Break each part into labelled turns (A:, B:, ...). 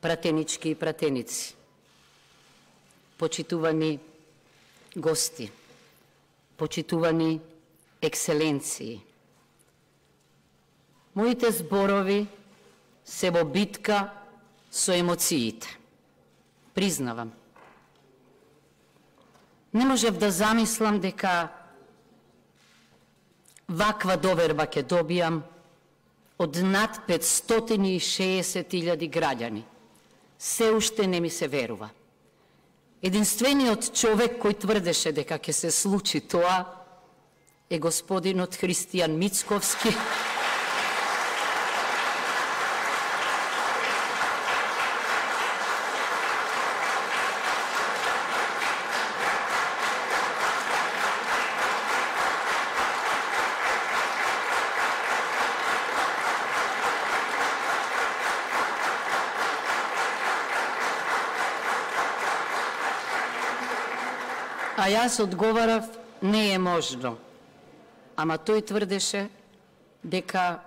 A: пратенички и пратеници, почитувани гости, почитувани екселенции. Моите зборови се во битка со емоциите. Признавам. Не можев да замислам дека ваква доверба ќе добијам од над 560.000 граѓани. Се уште не ми се верува. Единствениот човек кој тврдеше дека ќе се случи тоа е господинот Христијан Мицковски, а јас одговарав, не е можно. Ама тој тврдеше дека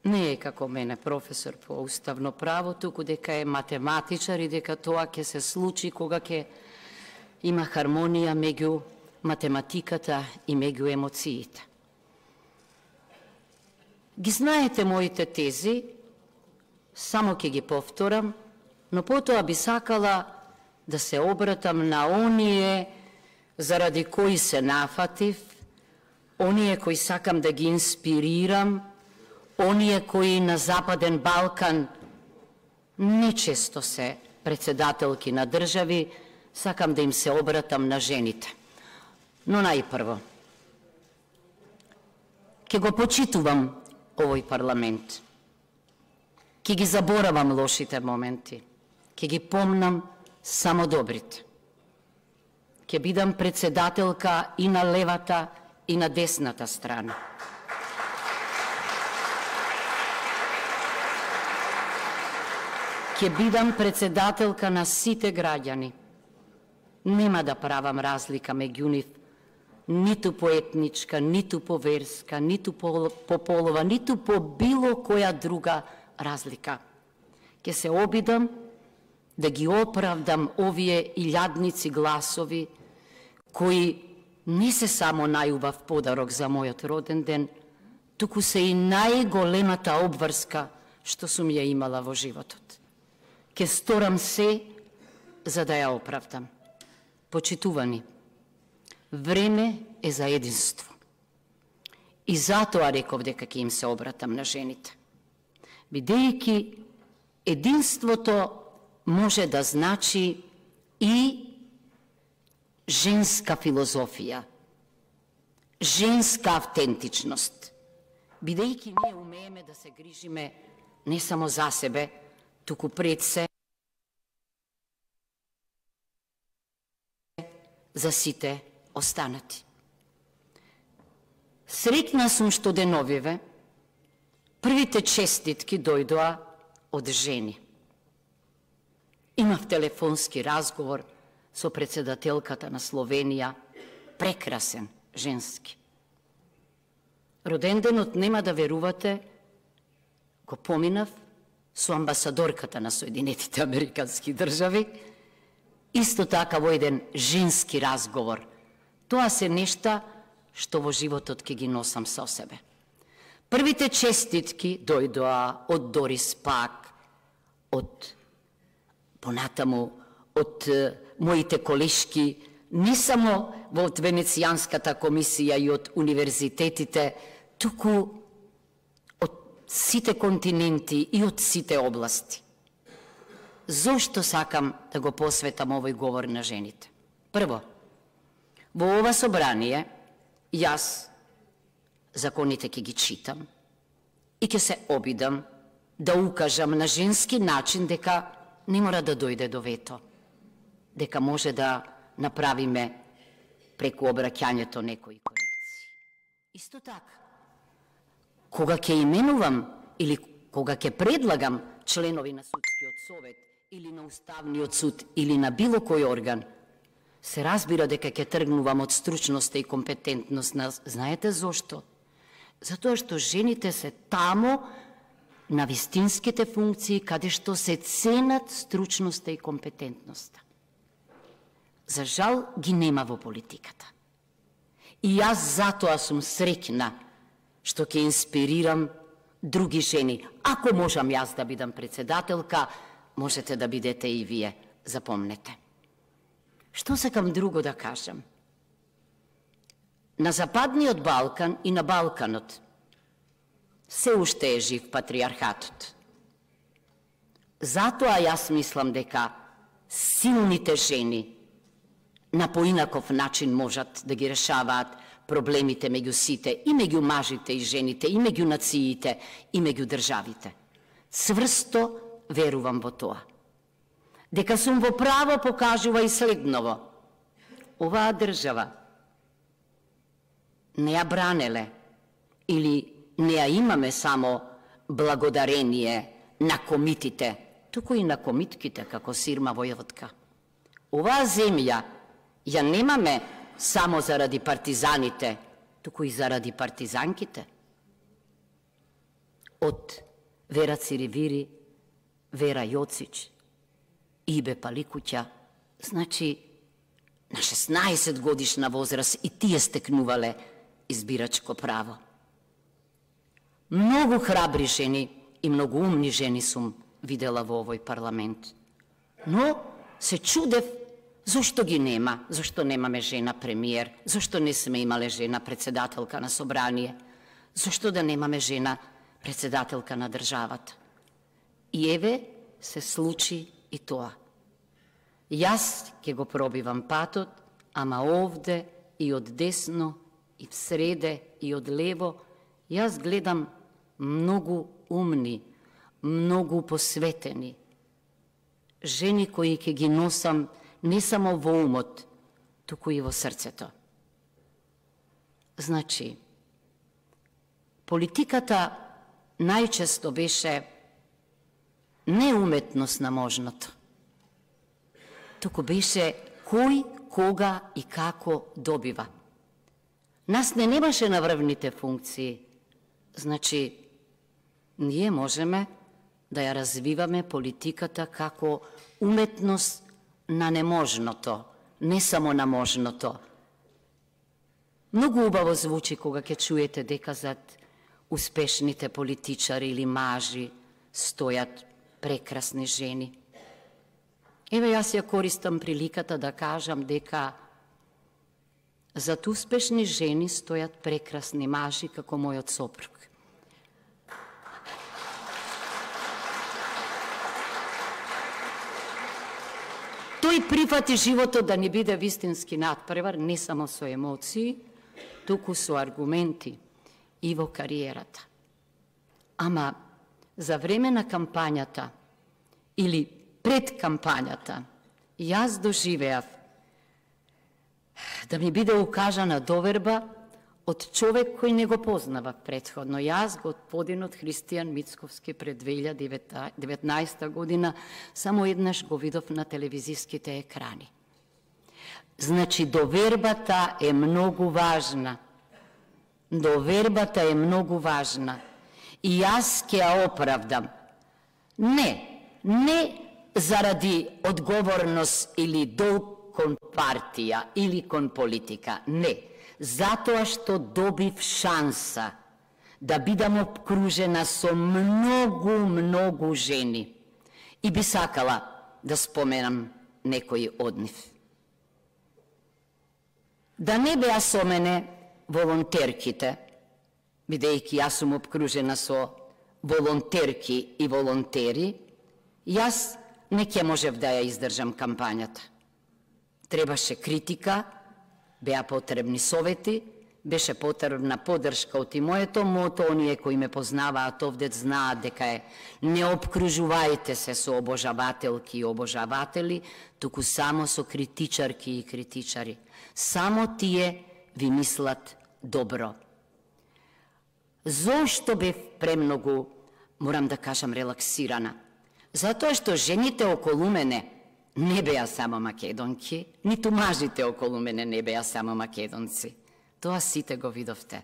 A: не е како мене професор по уставно право, туку дека е математичар и дека тоа ќе се случи кога ќе има хармонија меѓу математиката и меѓу емоциите. Ги знаете моите тези, само ќе ги повторам, но потоа би сакала да се обратам на оние заради кои се нафатив, оние кои сакам да ги инспирирам, оние кои на Западен Балкан нечесто се председателки на држави, сакам да им се обратам на жените. Но најпрво, ќе го почитувам овој парламент, ќе ги заборавам лошите моменти, ќе ги помнам само добрите. Ќе бидам председателка и на левата и на десната страна. Ќе бидам председателка на сите граѓани. Нема да правам разлика меѓу нив, ниту по етничка, ниту по верска, ниту по полова, ниту по било која друга разлика. Ќе се обидам да ги оправдам овие илјадници гласови кои не се само најубав подарок за мојот роден ден, туку се и најголемата обврска што сум ја имала во животот. Ке сторам се за да ја оправдам. Почитувани, време е за единство. И затоа реков дека ќе им се обратам на жените. Бидејќи единството може да значи и женска филозофија, женска автентичност, бидејќи ние умееме да се грижиме не само за себе, туку пред се за сите останати. Среќна сум што деновиве првите честитки дојдоа од жени. Имав телефонски разговор со председателката на Словенија, прекрасен, женски. Роденденот, нема да верувате, го поминав со амбасадорката на Соединетите Американски држави, исто така во еден женски разговор. Тоа се нешта што во животот ќе ги носам со себе. Првите честитки дојдоа од Дорис Пак, од понатаму од моите колешки, не само во Венецијанската комисија и од универзитетите, туку од сите континенти и од сите области. Зошто сакам да го посветам овој говор на жените? Прво, во ова собрание јас законите ќе ги читам и ќе се обидам да укажам на женски начин дека не мора да дојде до вето, дека може да направиме преку обраќањето некои корекции. Исто така, кога ќе именувам или кога ќе предлагам членови на Судскиот совет или на Уставниот суд или на било кој орган, се разбира дека ќе тргнувам од стручноста и компетентност. Знаете зошто? Затоа што жените се тамо на вистинските функции каде што се ценат стручноста и компетентноста. За жал ги нема во политиката. И јас затоа сум среќна што ќе инспирирам други жени. Ако можам јас да бидам председателка, можете да бидете и вие, запомнете. Што сакам друго да кажам? На Западниот Балкан и на Балканот се уште е жив патриархатот. Затоа јас мислам дека силните жени на поинаков начин можат да ги решаваат проблемите меѓу сите, и меѓу мажите и жените, и меѓу нациите, и меѓу државите. Цврсто верувам во тоа. Дека сум во право покажува и следново. Оваа држава не ја бранеле или не ја имаме само благодарение на комитите, туку и на комитките како Сирма Војводка. Оваа земја ја немаме само заради партизаните, туку и заради партизанките. Од Вера Циривири, Вера Јоцич, Ибе Паликуќа, значи на 16 годишна возраст и тие стекнувале избирачко право. Многу храбри жени и многу умни жени сум видела во овој парламент. Но се чудев зошто ги нема, зошто немаме жена премиер, зошто не сме имале жена председателка на собрание, зошто да немаме жена председателка на државата. И еве се случи и тоа. Јас ќе го пробивам патот, ама овде и од десно, и в среде, и од лево, јас гледам многу умни, многу посветени жени кои ќе ги носам не само во умот, туку и во срцето. Значи, политиката најчесто беше не уметност на можното, туку беше кој, кога и како добива. Нас не немаше наврвните функции, значи, ние можеме да ја развиваме политиката како уметност на неможното, не само на можното. Многу убаво звучи кога ќе чуете дека зад успешните политичари или мажи стојат прекрасни жени. Еве јас ја користам приликата да кажам дека зад успешни жени стојат прекрасни мажи како мојот сопруг. Тој прифати животот да ни биде вистински натпревар, не само со емоции, туку со аргументи и во кариерата. Ама за време на кампањата или пред кампањата, јас доживеав да ми биде укажана доверба од човек кој не го познавав претходно. Јас, господинот Христијан Мицковски, пред 2019 година само еднаш го видов на телевизиските екрани. Значи, довербата е многу важна. Довербата е многу важна. И јас ќе ја оправдам. Не заради одговорност или долг кон партија или кон политика, не. Затоа што добив шанса да бидам обкружена со многу жени. И би сакала да споменам некои од нив. Да не беа со мене волонтерките, бидејќи јас сум обкружена со волонтерки и волонтери, јас не ќе можев да ја издржам кампањата. Требаше критика, беа потребни совети, беше потребна поддршка од и моето мото, оние кои ме познаваат овде знаат дека е не обкружувајте се со обожавателки и обожаватели, туку само со критичарки и критичари. Само тие ви мислат добро. Зошто бев премногу, морам да кажам, релаксирана? Затоа што жените околу мене не беа само македонки, ниту мажите околу мене не беа само македонци. Тоа сите го видовте.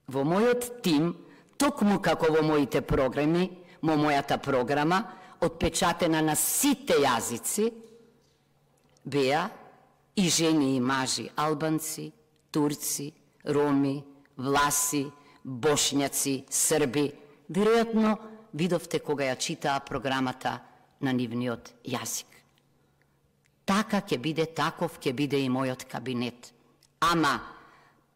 A: Во мојот тим токму како во моите програми, мојата програма, отпечатена на сите јазици, беа и жени и мажи, албанци, турци, роми, власи, бошњаци, срби. Веројатно видовте кога ја читаа програмата на нивниот јазик. Така ќе биде, таков ќе биде и мојот кабинет. Ама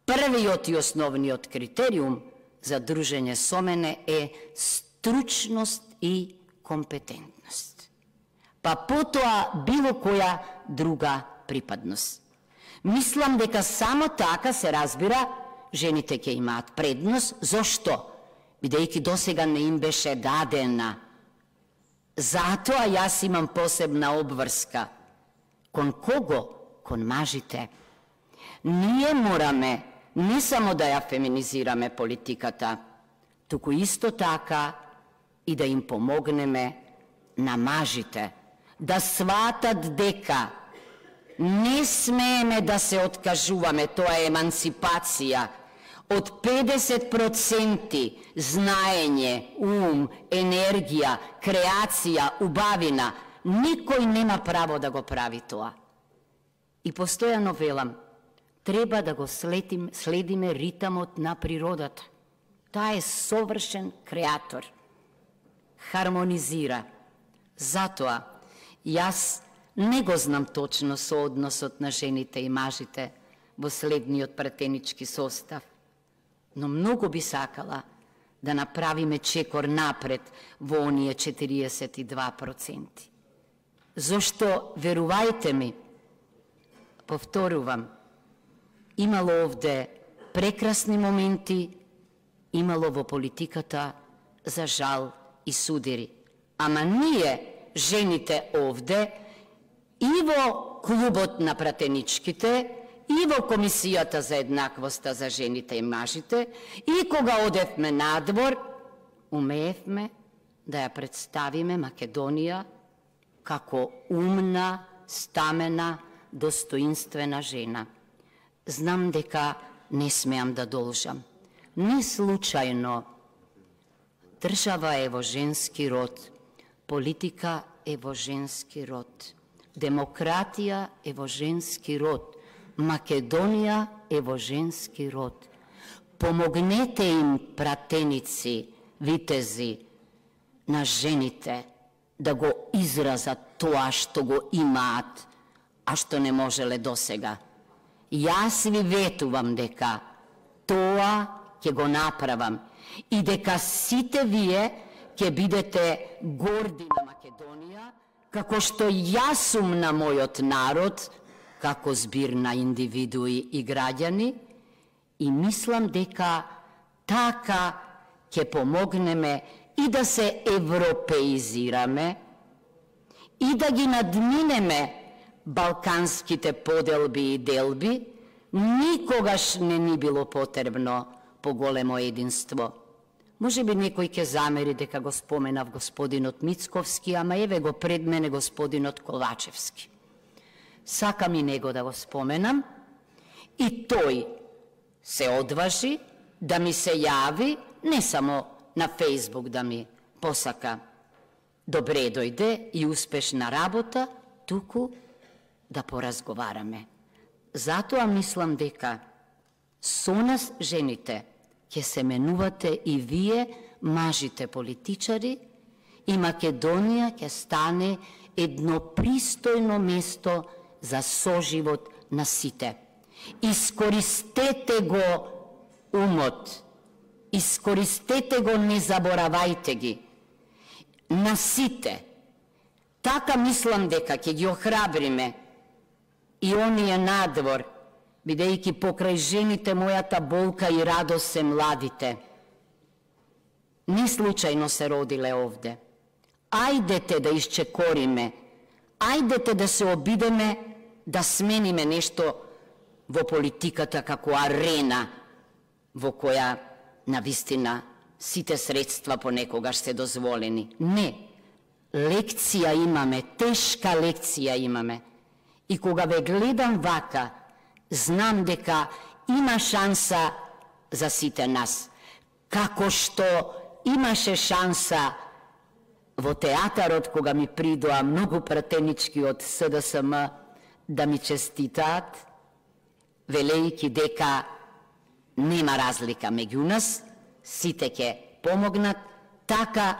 A: првиот и основниот критериум за дружење со мене е стручност и компетентност. Па потоа било која друга припадност. Мислам дека само така се разбира, жените ќе имаат предност. Зошто? Бидејќи досега не им беше дадена. Затоа јас имам посебна обврска. Кон кого? Кон мажите. Ние мораме не само да ја феминизираме политиката, туку исто така и да им помогнеме на мажите, да сватат дека не смееме да се откажуваме, тоа е емансипација, од 50% знаење, ум, енергија, креација, убавина, никој нема право да го прави тоа. И постојано велам, треба да го следиме ритамот на природата. Таа е совршен креатор. Хармонизира. Затоа, јас не го знам точно соодносот на жените и мажите во следниот пратенички состав, но многу би сакала да направиме чекор напред во оние 42%. Зошто, верувајте ми, повторувам, имало овде прекрасни моменти, имало во политиката, за жал и судири. Ама ние, жените овде, и во клубот на пратеничките, и во Комисијата за еднаквоста за жените и мажите, и кога одевме надвор, умеевме да ја представиме Македонија како умна, стамена, достоинствена жена. Знам дека не смеам да должам. Не случајно држава е во женски род, политика е во женски род, демократија е во женски род, Македонија е во женски род. Помогнете им, пратеници, витези, на жените да го изразат тоа што го имаат, а што не можеле досега. Јас ви ветувам дека тоа ќе го направам и дека сите вие ќе бидете горди на Македонија, како што јас сум на мојот народ, како збир на индивидуи и граѓани, и мислам дека така ќе помогнеме и да се европеизираме, и да ги надминеме балканските поделби и делби. Никогаш не ни било потребно поголемо единство. Може би некој ќе замери дека го споменав господинот Мицковски, ама еве го пред мене господинот Ковачевски. Сакам и него да го споменам, и тој се одважи да ми се јави, не само на Фејсбук да ми посака добре дојде и успешна работа, туку да поразговараме. Затоа мислам дека со нас жените ќе се менувате и вие, мажите политичари, и Македонија ќе стане едно пристојно место за соживот на сите. Искористете го умот, искористете го, не заборавајте ги. На сите. Така мислам дека ќе ги охрабриме и оние надвор, бидејќи покрај жените мојата болка и радост се младите. Не случајно се родиле овде. Ајдете да исчекориме, ајдете да се обидеме да смениме нешто во политиката како арена во која навистина сите средства понекогаш се дозволени. Не, лекција имаме, тешка лекција имаме. И кога ве гледам вака, знам дека има шанса за сите нас. како што имаше шанса во театарот, кога ми придоа многу пратенички од СДСМ да ми честитаат, велејќи дека нема разлика меѓу нас, сите ќе помогнат, така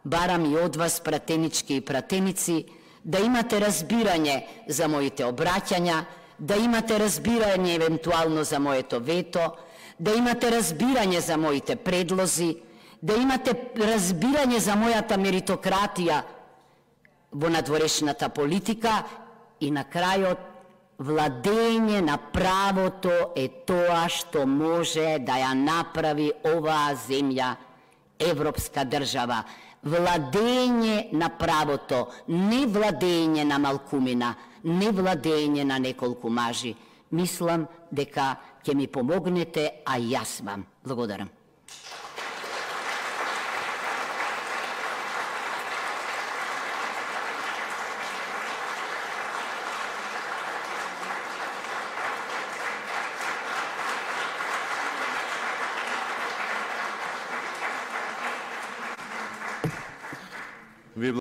A: барам и од вас, пратенички и пратеници, да имате разбирање за моите обраќања, да имате разбирање евентуално за моето вето, да имате разбирање за моите предлози, да имате разбирање за мојата меритократија во надворешната политика и на крајот владење на правото е тоа што може да ја направи оваа земја европска држава. Владење на правото, не владење на малкумина, не владење на неколку мажи. Мислам дека ќе ми помогнете, а јас вам. Благодарам.